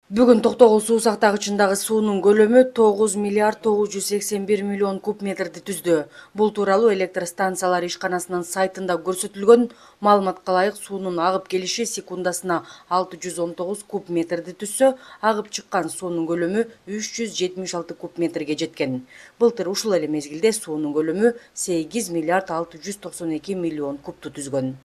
Бүгүн Токтогул суу сактагычындагы суунун көлөмү 9 миллиард 981 миллион куб метрди түздү. Бул тууралуу электр станциялары ишканасынын сайтында көрсөтүлгөн маалыматка ылайык суунун агып келиши секундасына 619 куб метрди түзсө, агып чыккан суунун көлөмү 376 куб метрге жеткен. Былтыр ушул эле мезгилде суунун көлөмү 8 миллиард 692 миллион кубту түзгөн.